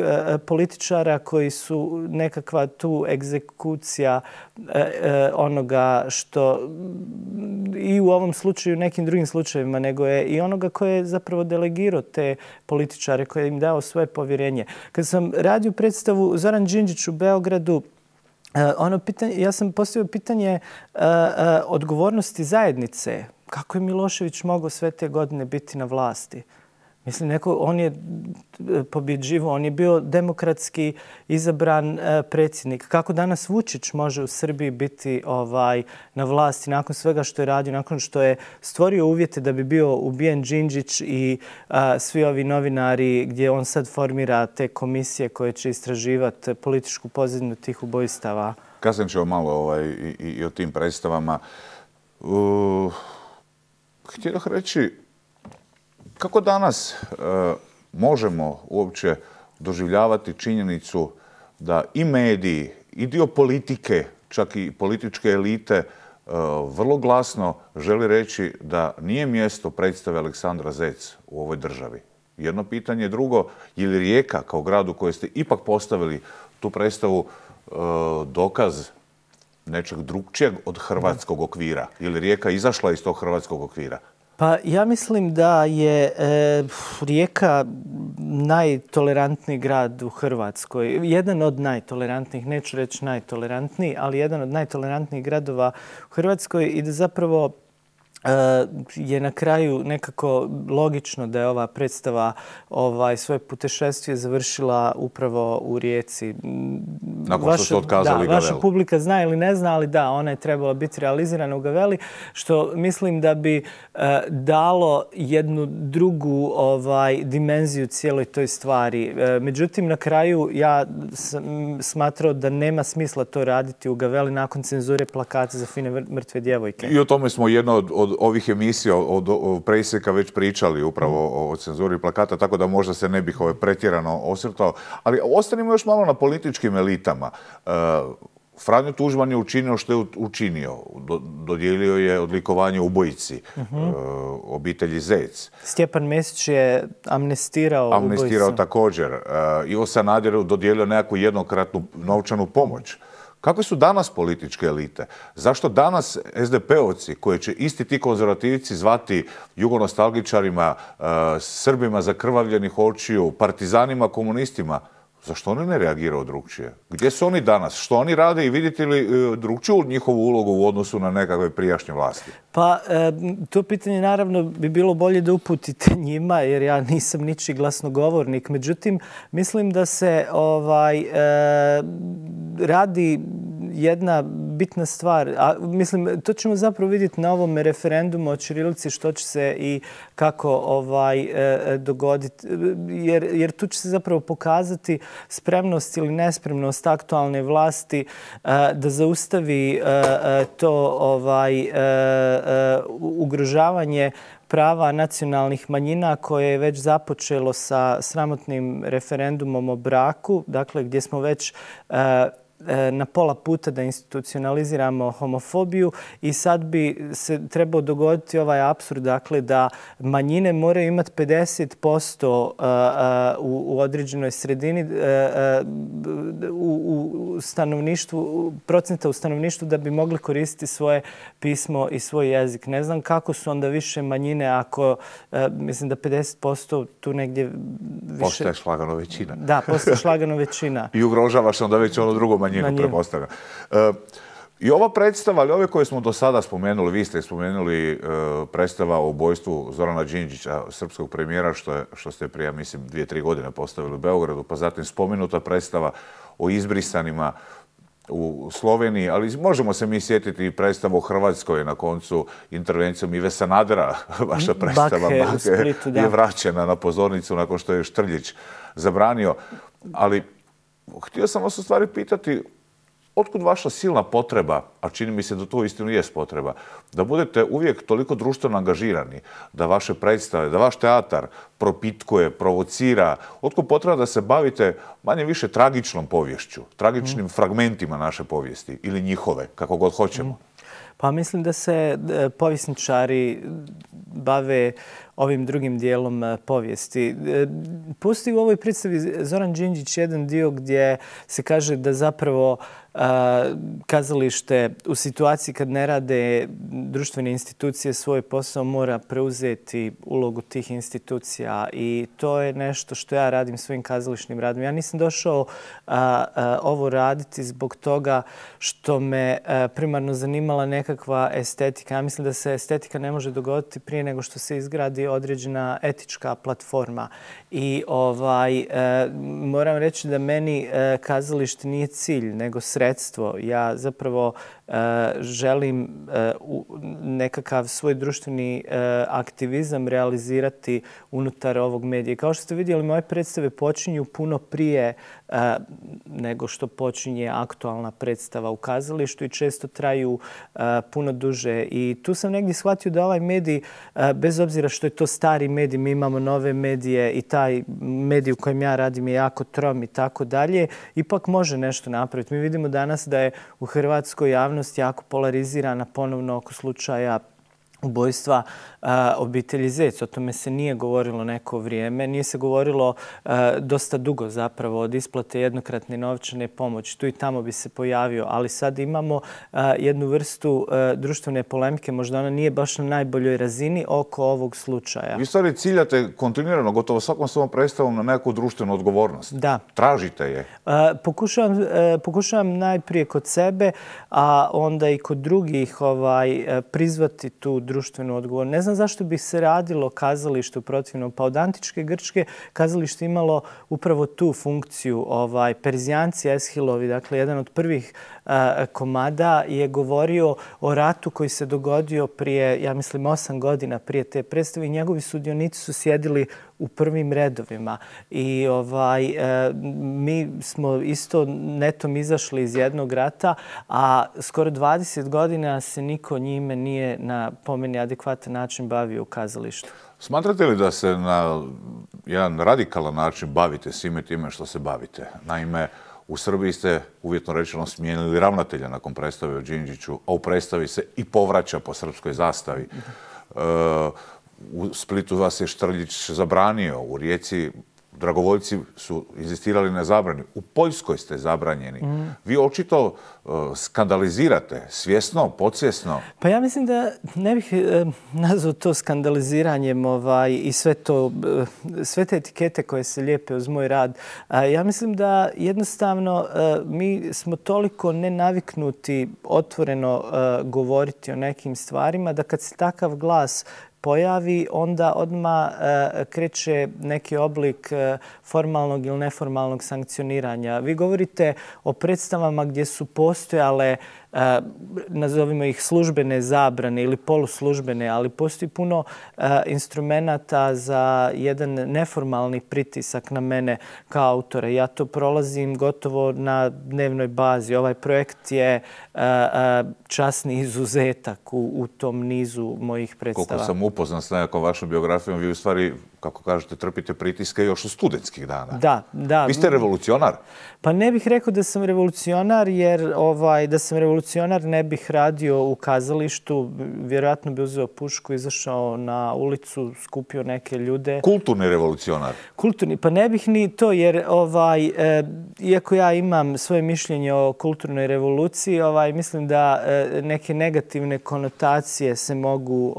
političara koji su nekakva tu egzekucija onoga što i u ovom slučaju i u nekim drugim slučajevima, nego je i onoga koji je zapravo delegirao te političare, koji je im dao svoje povjerenje. Kad sam radio predstavu Zoran Đinđić u Beogradu, ja sam postavio pitanje odgovornosti zajednice. Kako je Milošević mogao sve te godine biti na vlasti? Mislim, on je pobjeđivao, on je bio demokratski izabran predsjednik. Kako danas Vučić može u Srbiji biti na vlasti nakon svega što je radio, nakon što je stvorio uvjete da bi bio ubijen Đinđić i svi ovi novinari gdje on sad formira te komisije koje će istraživati političku pozadinu tih ubojstava? Kasnije ćemo malo i o tim predstavama. Htio bih reći, kako danas možemo uopće doživljavati činjenicu da i mediji, i dio politike, čak i političke elite, vrlo glasno želi reći da nije mjesto predstave Aleksandra Zec u ovoj državi? Jedno pitanje. Drugo, je li Rijeka kao grad u kojoj ste ipak postavili tu predstavu dokaz nečeg drugčijeg od hrvatskog okvira? Je li Rijeka izašla iz tog hrvatskog okvira? Pa ja mislim da je Rijeka najtolerantniji grad u Hrvatskoj. Jedan od najtolerantnijih, neću reći najtolerantniji, ali jedan od najtolerantnijih gradova u Hrvatskoj i da zapravo je na kraju nekako logično da je ova predstava svoje putešestvije završila upravo u Rijeci. Nakon što ste otkazali Gavelu. Vaša publika zna ili ne zna, ali da, ona je trebala biti realizirana u Gaveli, što mislim da bi dalo jednu drugu dimenziju cijeloj toj stvari. Međutim, na kraju ja sam smatrao da nema smisla to raditi u Gaveli nakon cenzure plakata za fine mrtve djevojke. I o tome smo jedno od ovih emisija od presjeka već pričali upravo o cenzuri plakata, tako da možda se ne bih pretjerano osvrtao. Ali ostanimo još malo na političkim elitama. Franjo Tuđman je učinio što je učinio. Dodijelio je odlikovanje ubojici obitelji Zec. Stjepan Mesić je amnestirao ubojicu. Također. Ivo Sanaderu dodijelio nekakvu jednokratnu novčanu pomoć. Kakve su danas političke elite? Zašto danas SDP-ovci, koje će isti ti konzervativci zvati jugonostalgičarima, Srbima zakrvavljenih očiju, partizanima, komunistima, zašto oni ne reagiraju drugčije? Gdje su oni danas? Što oni rade i vidite li drugčiju njihovu ulogu u odnosu na nekakve prijašnje vlasti? Pa, to pitanje naravno bi bilo bolje da uputite njima, jer ja nisam ničiji glasnogovornik. Međutim, mislim da se radi jedna bitna stvar. Mislim, to ćemo zapravo vidjeti na ovom referendumu o ćirilici, što će se i kako dogoditi. Jer tu će se zapravo pokazati spremnost ili nespremnost aktualne vlasti da zaustavi to ugrožavanje prava nacionalnih manjina koje je već započelo sa sramotnim referendumom o braku, dakle gdje smo već na pola puta da institucionaliziramo homofobiju i sad bi se trebao dogoditi ovaj apsurd, dakle da manjine moraju imati 50% u određenoj sredini u stanovništvu, procenta u stanovništvu da bi mogli koristiti svoje pismo i svoj jezik. Ne znam kako su onda više manjine ako, mislim da 50% tu negdje više... Postaje šlagano većina. Da, postaje šlagano većina. I ugrožavaš onda već ono drugo manjinu, prepostavljam. I ova predstava, ali ove koje smo do sada spomenuli, vi ste spomenuli predstava o ubojstvu Zorana Đinđića, srpskog premijera, što ste prije, mislim, 2-3 godine postavili u Beogradu, pa zatim spomenuta predstava o izbrisanima u Sloveniji, ali možemo se mi sjetiti i predstavu u Hrvatskoj na koncu intervencijom Ive Sanadera. Vaša predstava Bake je vraćena na pozornicu nakon što je Štrljić zabranio. Ali htio sam vas u stvari pitati, otkud vaša silna potreba, a čini mi se da to uistinu jest potreba, da budete uvijek toliko društveno angažirani, da vaše predstave, da vaš teatar propitkuje, provocira, otkud potreba da se bavite manje više tragičnom poviješću, tragičnim fragmentima naše povijesti ili njihove, kako god hoćemo? Pa mislim da se povjesničari bave ovim drugim dijelom povijesti. Postoji u ovoj predstavi Zoran Đinđić jedan dio gdje se kaže da zapravo kazalište u situaciji kad ne rade društvene institucije svoj posao mora preuzeti ulogu tih institucija i to je nešto što ja radim svojim kazališnim radom. Ja nisam došao ovo raditi zbog toga što me primarno zanimala nekakva estetika. Ja mislim da se estetika ne može dogoditi prije nego što se izgradi određena etička platforma. I moram reći da meni kazalište nije cilj, nego sredstvo. Ja zapravo želim nekakav svoj društveni aktivizam realizirati unutar ovog medija. Kao što ste vidjeli, moje predstave počinju puno prije nego što počinje aktualna predstava u kazalištu i često traju puno duže. I tu sam negdje shvatio da ovaj medij, bez obzira što je to stari medij, mi imamo nove medije i taj medij u kojem ja radim je jako trom i tako dalje, ipak može nešto napraviti. Mi vidimo danas da je u hrvatskoj javnosti jako polarizirana ponovno oko slučaja ubojstva obitelji Zec. O tome se nije govorilo neko vrijeme. Nije se govorilo dosta dugo zapravo od isplate jednokratne novčane pomoći. Tu i tamo bi se pojavio, ali sad imamo jednu vrstu društvene polemike. Možda ona nije baš na najboljoj razini oko ovog slučaja. Vi stvari ciljate kontinuirano, gotovo svakom svom predstavom na neku društvenu odgovornost. Da. Tražite je. Pokušavam najprije kod sebe, a onda i kod drugih prizvati tu društvenu odgovornost. Ne znam zašto bi se radilo kazalište u protivnom. Pa od antičke Grčke kazalište imalo upravo tu funkciju. Perzijanci Eshilovi, dakle jedan od prvih komada, je govorio o ratu koji se dogodio prije, ja mislim, 8 godina prije te predstave i njegovi sudionici su sjedili u prvim redovima. I mi smo isto netom izašli iz jednog rata, a skoro 20 godina se niko njime nije na po meni adekvatan način bavio u kazalištu. Smatrate li da se na jedan radikalan način bavite svime time što se bavite? Naime, u Srbiji ste, uvjetno rečeno, smijenili ravnatelja nakon predstave o Đinđiću, a u predstavi se i povraća po srpskoj zastavi. U Splitu vas je Štrljić zabranio, u Rijeci dragovoljci su inzistirali na zabrani. U Poljskoj ste zabranjeni. Vi očito skandalizirate, svjesno, podsvjesno. Pa ja mislim da ne bih nazvao to skandaliziranjem i sve te etikete koje se lijepe uz moj rad. Ja mislim da jednostavno mi smo toliko nenaviknuti otvoreno govoriti o nekim stvarima da kad se takav glas pojavi, onda odmah kreće neki oblik formalnog ili neformalnog sankcioniranja. Vi govorite o predstavama gdje su postojale, nazovimo ih službene zabrane ili poluslužbene, ali postoji puno instrumenata za jedan neformalni pritisak na mene kao autora. Ja to prolazim gotovo na dnevnoj bazi. Ovaj projekt je časni izuzetak u tom nizu mojih predstava. Koliko sam upoznan s nekakvom vašom biografijom, vi u stvari, kako kažete, trpite pritiske još od studentskih dana. Da. Vi ste revolucionar? Pa ne bih rekao da sam revolucionar, jer da sam revolucionar ne bih radio u kazalištu. Vjerojatno bi uzeo pušku, izašao na ulicu, skupio neke ljude. Kulturni revolucionar? Kulturni, pa ne bih ni to, jer iako ja imam svoje mišljenje o kulturnoj revoluciji, mislim da neke negativne konotacije se mogu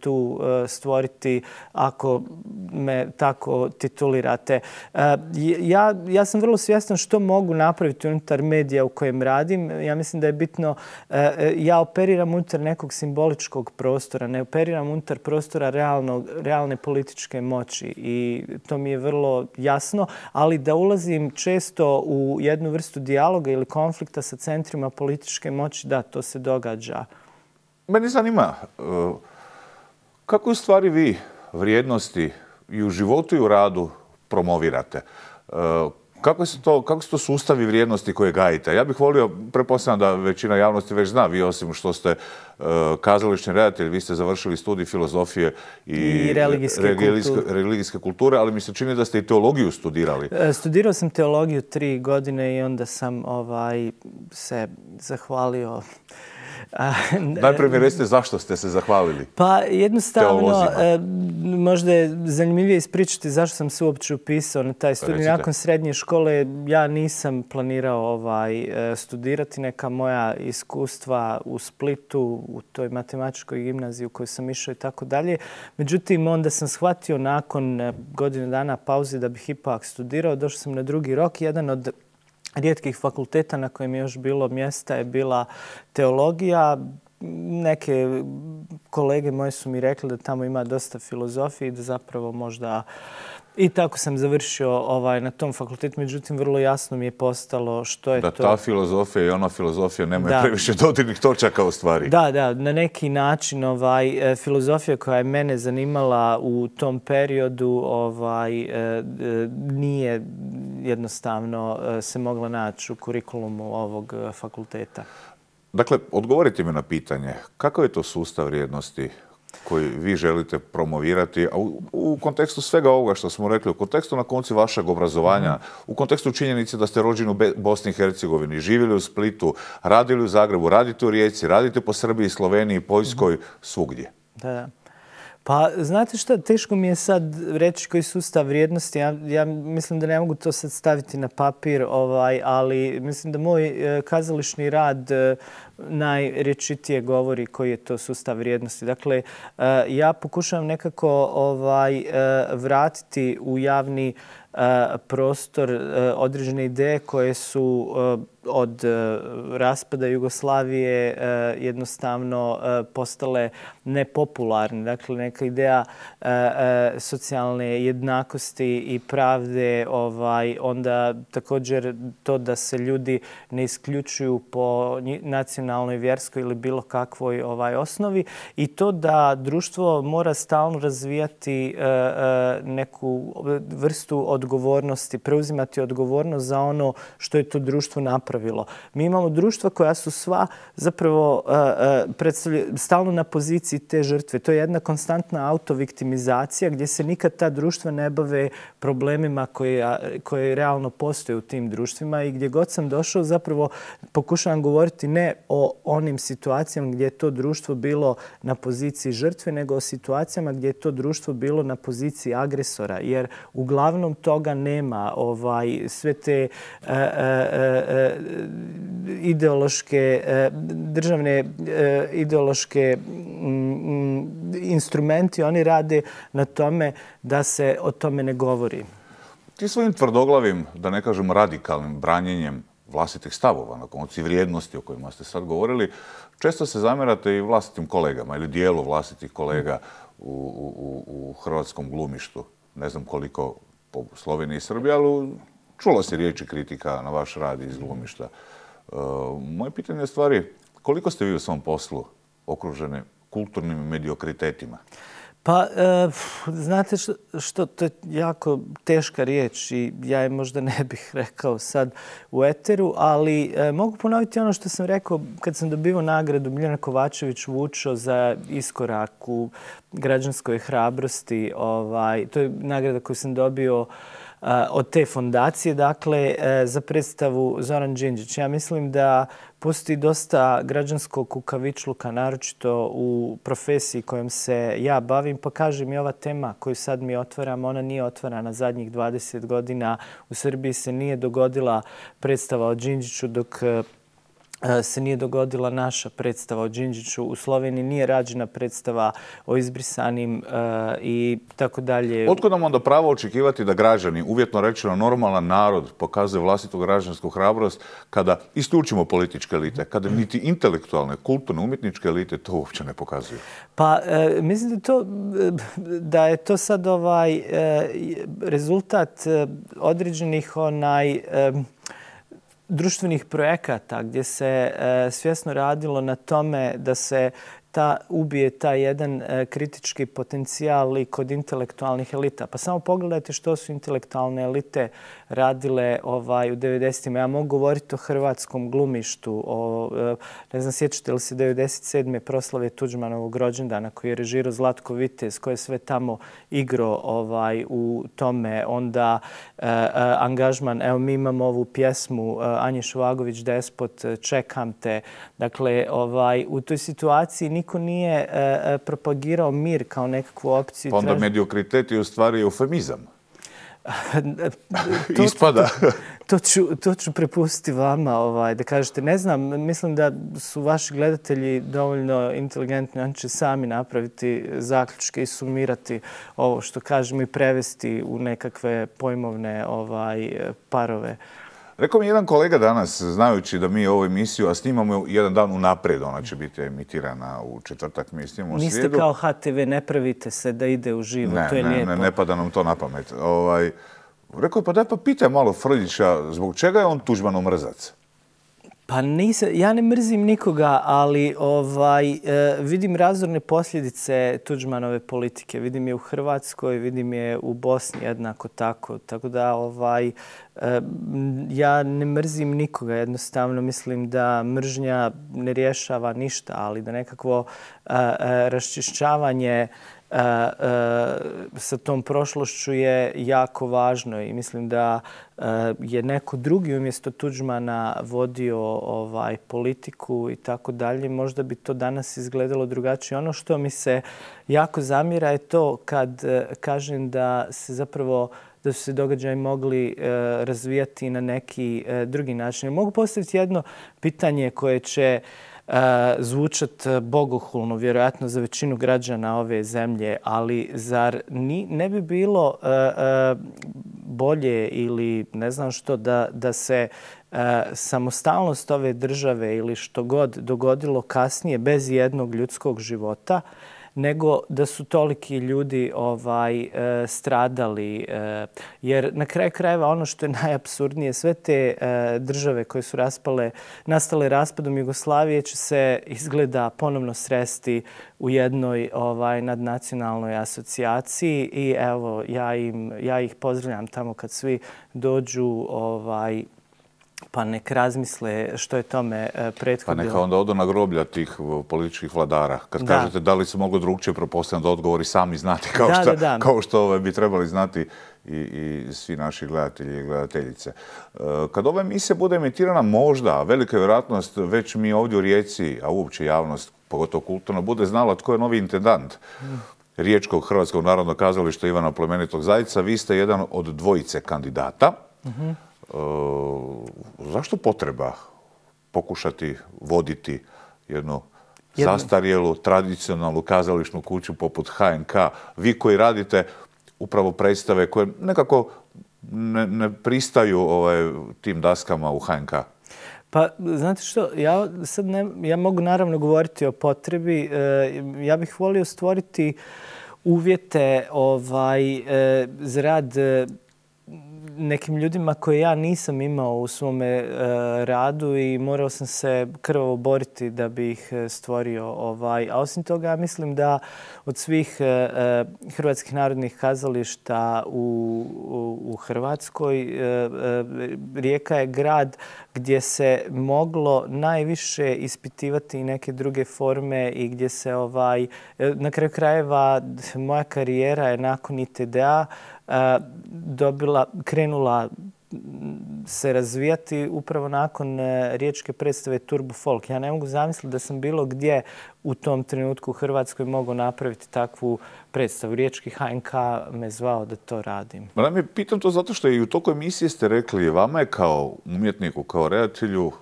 tu stvoriti ako me tako titulirate. Ja sam vrlo svjestan što mogu napraviti unutar medija u kojem radim. Ja mislim da je bitno, ja operiram unutar nekog simboličkog prostora, ne operiram unutar prostora realne političke moći i to mi je vrlo jasno, ali da ulazim često u jednu vrstu dijaloga ili konflikta sa centrima političke moći, da, to se događa. Mene zanima, kako u stvari vi vrijednosti i u životu i u radu promovirate? Kako su to sustavi vrijednosti koje gajite? Ja bih volio, pretpostavljam da većina javnosti već zna, vi osim što ste kazališni redatelj, vi ste završili studij filozofije i religijske kulture, ali mi se čini da ste i teologiju studirali. Studirao sam teologiju 3 godine i onda sam se zahvalio Najprije mi recite zašto ste se zahvalili. Pa jednostavno, teolozima. možda je zanimljivije ispričati zašto sam se uopće upisao na taj studij. Nakon srednje škole ja nisam planirao studirati. Neka moja iskustva u Splitu, u toj matematičkoj gimnaziji u kojoj sam išao i tako dalje. Međutim, onda sam shvatio nakon godine dana pauze da bih ipak studirao. Došao sam na drugi rok. Jedan od rijetkih fakulteta na kojem je još bilo mjesta je bila teologija. Neke kolege moje su mi rekli da tamo ima dosta filozofije i da zapravo možda... I tako sam završio na tom fakultetu, međutim vrlo jasno mi je postalo što je to... Da ta filozofija i ona filozofija nemaju previše dodirnih točaka u stvari. Da, na neki način filozofija koja je mene zanimala u tom periodu nije jednostavno se mogla naći u kurikulumu ovog fakulteta. Dakle, odgovorite mi na pitanje, kakav je to sustav vrijednosti koji vi želite promovirati u kontekstu svega ovoga što smo rekli, u kontekstu na koncu vašeg obrazovanja, u kontekstu činjenice da ste rođeni u Bosni i Hercegovini, živjeli u Splitu, radili u Zagrebu, radite u Rijeci, radite po Srbiji, Sloveniji, Poljskoj, svugdje. Da. Pa, znate šta, teško mi je sad reći koji sustav vrijednosti. Ja mislim da ne mogu to sad staviti na papir, ali mislim da moj kazališni rad najrječitije govori koji je to sustav vrijednosti. Dakle, ja pokušavam nekako vratiti u javni prostor određene ideje koje su od raspada Jugoslavije jednostavno postale nepopularne. Dakle, neka ideja socijalne jednakosti i pravde, onda također to da se ljudi ne isključuju po nacionalnoj, vjerskoj ili bilo kakvoj osnovi i to da društvo mora stalno razvijati neku vrstu odgovornosti, preuzimati odgovornost za ono što je to društvo napravilo. Mi imamo društva koja su sva zapravo stalno na poziciji te žrtve. To je jedna konstantna autoviktimizacija gdje se nikad ta društva ne bave problemima koje realno postoje u tim društvima i gdje god sam došao zapravo pokušavam govoriti ne o onim situacijama gdje je to društvo bilo na poziciji žrtve, nego o situacijama gdje je to društvo bilo na poziciji agresora. Jer uglavnom toga nema. Sve te ideološke, državne ideološke instrumenti, oni rade na tome da se o tome ne govori. Ti svojim tvrdoglavim, da ne kažem radikalnim branjenjem vlastitih stavova, na koncu vrijednosti o kojima ste sad govorili, često se zamjerate i vlastitim kolegama ili dijelu vlastitih kolega u hrvatskom glumištu. Ne znam koliko po Sloveniji i Srbiji, ali čulo se riječi kritika na vaš rad iz glumišta. Moje pitanje je stvari, koliko ste vi u svom poslu okruženi kulturnim mediokritetima? Pa, znate što, to je jako teška riječ i ja je možda ne bih rekao sad u eteru, ali mogu ponoviti ono što sam rekao kad sam dobivao nagradu Biljana Kovačević Vučo za iskorak u građanskoj hrabrosti. To je nagrada koju sam dobio od te fondacije, dakle, za predstavu Zoran Đinđić. Ja mislim da postoji dosta građanskog kukavičluka, naročito u profesiji kojom se ja bavim, pa kažem i ova tema koju sad mi otvaram, ona nije otvarana zadnjih 20 godina. U Srbiji se nije dogodila predstava o Đinđiću dok se nije dogodila naša predstava o Đinđiću. U Sloveniji nije rađena predstava o izbrisanim i tako dalje. Otkud nam onda pravo očekivati da građani, uvjetno rečeno normalan narod, pokazuje vlastitu građansku hrabrost kada isključimo političke elite, kada niti intelektualne, kulturne, umjetničke elite to uopće ne pokazuju? Pa mislim da je to sad rezultat određenih društvenih projekata gdje se svjesno radilo na tome da se ubije taj jedan kritički potencijal i kod intelektualnih elita. Pa samo pogledajte što su intelektualne elite radile u 90-ima. Ja mogu govoriti o hrvatskom glumištu. Ne znam, sjećate li se 97. proslave Tuđmanovog rođendana koji je režirao Zlatko Vitez, koji je sve tamo igrao u tome. Onda angažman, evo mi imamo ovu pjesmu Anje Šovagović Despot, Čekam te. Dakle, u toj situaciji niko nije propagirao mir kao nekakvu opciju. Pa onda mediokritet je u stvari eufemizam. Ispada. To ću prepustiti vama da kažete. Ne znam, mislim da su vaši gledatelji dovoljno inteligentni. Oni će sami napraviti zaključke i sumirati ovo što kažemo i prevesti u nekakve pojmovne parove. Rekao mi jedan kolega danas, znajući da mi ovu emisiju, a snimamo jedan dan unaprijed, ona će biti emitirana u četvrtak, mi snimamo u srijedu. Niste kao HTV, ne pravite se da ide u živo, to je lijepo. Ne pada nam to na pamet. Rekao je, pa daj pa pitaj malo Frljića, zbog čega je on Tuđmanov mrzac? Pa ja ne mrzim nikoga, ali vidim razorne posljedice Tuđmanove politike. Vidim je u Hrvatskoj, vidim je u Bosni jednako tako. Tako da ja ne mrzim nikoga. Jednostavno mislim da mržnja ne rješava ništa, ali da nekakvo raščišćavanje sa tom prošlošću je jako važno i mislim da je neko drugi umjesto Tuđmana vodio politiku i tako dalje. Možda bi to danas izgledalo drugačije. Ono što mi se jako zamjera je to kad kažem da se zapravo da su se događaji mogli razvijati na neki drugi način. Mogu postaviti jedno pitanje koje će zvučat bogohulno, vjerojatno za većinu građana ove zemlje, ali zar ne bi bilo bolje ili ne znam što da se samostalnost ove države ili što god dogodilo kasnije bez jednog ljudskog života, nego da su toliki ljudi stradali. Jer na kraju krajeva ono što je najapsurdnije, sve te države koje su nastale raspadom Jugoslavije će se izgleda ponovno sresti u jednoj nadnacionalnoj asocijaciji i evo ja ih pozdravljam tamo kad svi dođu pa nek razmisle što je tome prethodilo. Pa neka onda odu na groblja tih političkih vladara. Kad kažete da li se moglo drugčije, pretpostavljam da odgovori sami znati kao što bi trebali znati i svi naši gledatelji i gledateljice. Kad ova emisija bude emitirana, možda, velika je vjerojatnost, već mi ovdje u Rijeci, a uopće javnost, pogotovo kulturno, bude znala tko je novi intendant Riječkog Hrvatskog narodnog kazališta Ivana Plemenitog Zajca. Vi ste jedan od dvojice kandidata. Zašto potreba pokušati voditi jednu zastarjelu, tradicionalnu kazališnu kuću poput HNK? Vi koji radite upravo predstave koje nekako ne pristaju tim daskama u HNK. Pa, znate što, ja mogu naravno govoriti o potrebi. Ja bih volio stvoriti uvjete za rad nekim ljudima koje ja nisam imao u svome radu i morao sam se krvavo boriti da bi ih stvorio. A osim toga, ja mislim da od svih hrvatskih narodnih kazališta u Hrvatskoj Rijeka je grad gdje se moglo najviše ispitivati i neke druge forme i gdje se na kraju krajeva moja karijera je nakon ITD-a krenula se razvijati upravo nakon riječke predstave Turbo Folk. Ja ne mogu zamisliti da sam bilo gdje u tom trenutku u Hrvatskoj mogao napraviti takvu predstavu. Riječki HNK me zvao da to radim. Pitam to zato što i u toku emisije ste rekli, vama je kao umjetniku, kao redatelju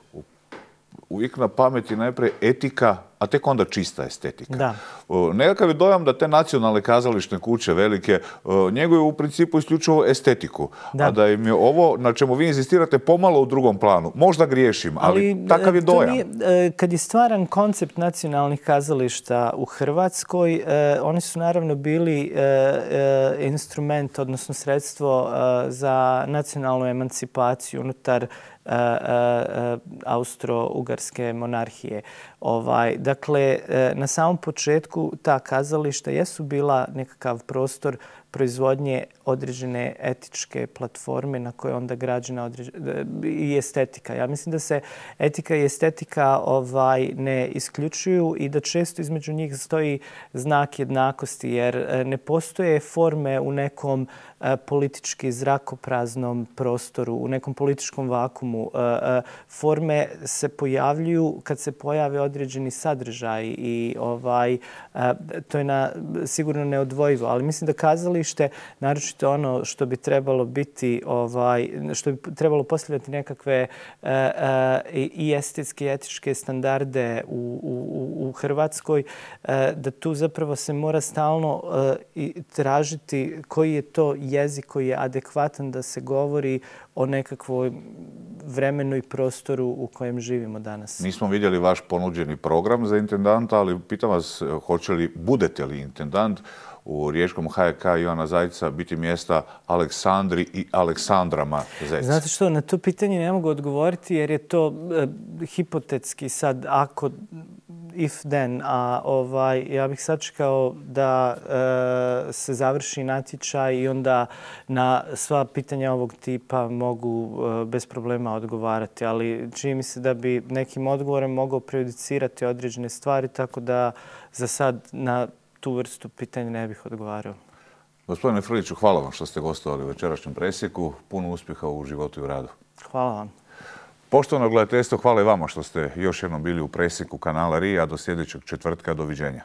uvijek na pameti najprije etika, a tek onda čista estetika. Da. Nekakav je dojam da te nacionalne kazališne kuće velike njeguju u principu isključivo estetiku. Da. A da im je ovo na čemu vi inzistirate pomalo u drugom planu. Možda griješim, ali takav je dojam. Kad je stvaran koncept nacionalnih kazališta u Hrvatskoj, oni su naravno bili instrument, odnosno sredstvo za nacionalnu emancipaciju unutar Austro-Ugarske monarhije. Dakle, na samom početku ta kazališta jesu bila nekakav prostor proizvodnje određene etičke platforme na koje onda građena i estetika. Ja mislim da se etika i estetika ne isključuju i da često između njih stoji znak jednakosti, jer ne postoje forme u nekom politički zrakopraznom prostoru, u nekom političkom vakumu. Forme se pojavljuju kad se pojave određeni sadržaj i to je sigurno neodvojivo. Ali mislim da kazalište, naročito ono što bi trebalo biti, što bi trebalo postavljati nekakve i estetske i etičke standarde u Hrvatskoj, da tu zapravo se mora stalno tražiti koji je to jezik koji je adekvatan da se govori o nekakvoj vremenu i prostoru u kojem živimo danas. Nismo vidjeli vaš ponuđeni program za intendanta, ali pitam vas, budete li intendant u riječkom HK Ivana Zajca biti mjesta Aleksandri i Aleksandrama Zec? Znate što, na to pitanje ne mogu odgovoriti jer je to hipotetski sad ako if then, a ja bih sačekao da se završi natječaj i onda na sva pitanja ovog tipa mogu bez problema odgovarati, ali čini mi se da bi nekim odgovorem mogao prejudicirati određene stvari, tako da za sad na tu vrstu pitanja ne bih odgovarao. Gospodine Frljiću, hvala vam što ste gostovali u večerašnjem presjeku. Puno uspjeha u životu i u radu. Hvala vam. Poštovano gledateljstvo, hvala i vama što ste još jednom bili u presjeku kanala RIA. Do sljedećeg četvrtka. Doviđenja.